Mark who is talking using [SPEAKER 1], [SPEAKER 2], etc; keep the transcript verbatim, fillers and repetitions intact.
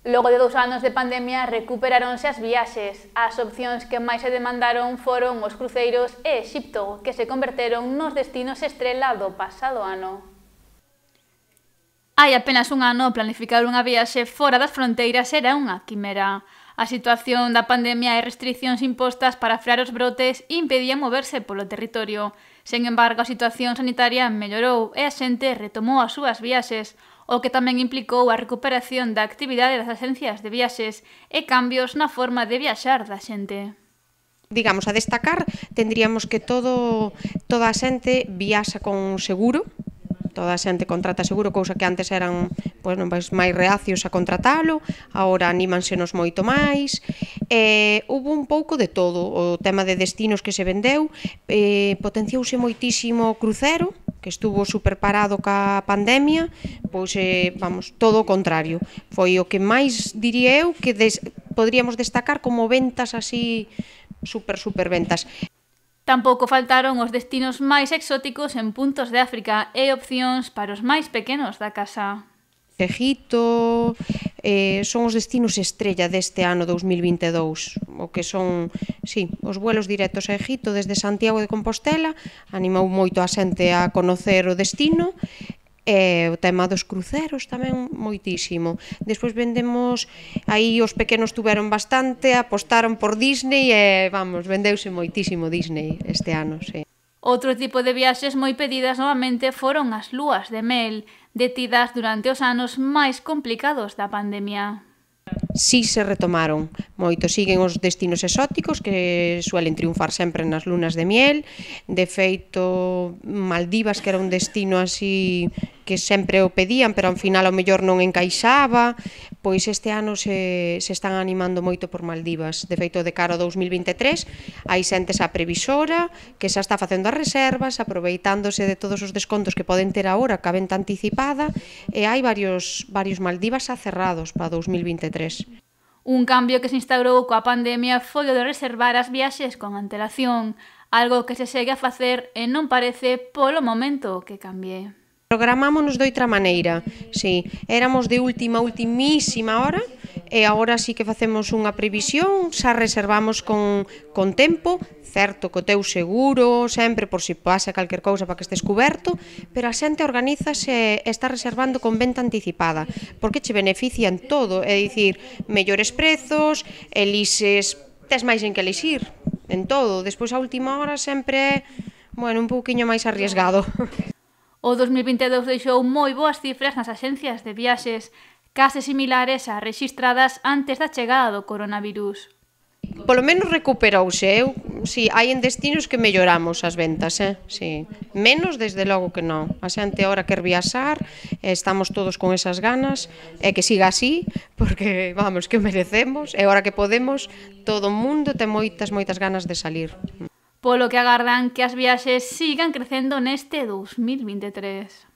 [SPEAKER 1] Logo de dous anos de pandemia recuperáronse as viaxes. As opcións que máis se demandaron foron os cruceiros e Exipto, que se converteron nos destinos estrela do pasado ano. Hai apenas un ano planificar unha viaxe fora das fronteiras era unha quimera. A situación da pandemia e restriccións impostas para frear os brotes impedían moverse polo territorio. Sen embargo, a situación sanitaria mellorou e a xente retomou as súas viaxes, o que tamén implicou a recuperación da actividade das axencias de viaxes e cambios na forma de viaxar da xente.
[SPEAKER 2] Digamos, a destacar, tendríamos que todo, toda a xente viaxa con seguro, toda a xente contrata seguro, cousa que antes eran pois, non, pois, máis reacios a contratalo, agora anímansenos moito máis. Eh, hubo un pouco de todo, o tema de destinos que se vendeu, eh, potenciouse moitísimo o crucero, que estuvo super parado ca pandemia, pois, eh, vamos, todo o contrario. Foi o que máis, diría eu, que des, podríamos destacar como ventas así, super, super ventas.
[SPEAKER 1] Tampouco faltaron os destinos máis exóticos en puntos de África e opcións para os máis pequenos da casa.
[SPEAKER 2] Egipto, eh, son os destinos estrella deste ano dous mil vinte e dous, o que son, sí, os vuelos directos a Egipto desde Santiago de Compostela, animou moito a xente a conocer o destino, e o tema dos cruceros tamén moitísimo. Despois vendemos, aí os pequenos tuveron bastante, apostaron por Disney e, vamos, vendeuse moitísimo Disney este ano, sí.
[SPEAKER 1] Outro tipo de viaxes moi pedidas novamente foron as lúas de mel, detidas durante os anos máis complicados da pandemia.
[SPEAKER 2] Si se retomaron moito, siguen os destinos exóticos que suelen triunfar sempre nas lunas de miel. De feito, Maldivas, que era un destino así que sempre o pedían, pero ao final ao mellor non encaixaba, pois este ano se, se están animando moito por Maldivas. De feito, de cara ao dous mil vinte e tres, hai xente xa previsora que xa está facendo as reservas, aproveitándose de todos os descontos que poden ter agora ca venta anticipada, e hai varios, varios Maldivas xa cerrados para dous mil vinte e tres.
[SPEAKER 1] Un cambio que se instaurou coa pandemia foi o de reservar as viaxes con antelación, algo que se segue a facer e non parece polo momento que cambie.
[SPEAKER 2] Programámonos de outra maneira, sí, éramos de última, ultimísima hora e agora sí que facemos unha previsión, xa reservamos con, con tempo, certo, co teu seguro, sempre por si pasa calquer cousa para que estés cuberto, pero a xente organízase e está reservando con venta anticipada, porque che beneficia en todo, é dicir, mellores prezos, elixes, tes máis en que elixir, en todo, despois a última hora sempre é, bueno, un pouquiño máis arriesgado.
[SPEAKER 1] O dous mil vinte e dous deixou moi boas cifras nas axencias de viaxes, case similares ás rexistradas antes da chegada do coronavirus.
[SPEAKER 2] Polo menos recuperouse, eu, si, hai en destinos que melloramos as ventas, eh? Si. Menos, desde logo que non. A xente agora quer viaxar, estamos todos con esas ganas, e que siga así, porque, vamos, que o merecemos, e agora que podemos, todo o mundo ten moitas, moitas ganas de salir.
[SPEAKER 1] Polo que agardan que as viaxes sigan crecendo neste dous mil vinte e tres.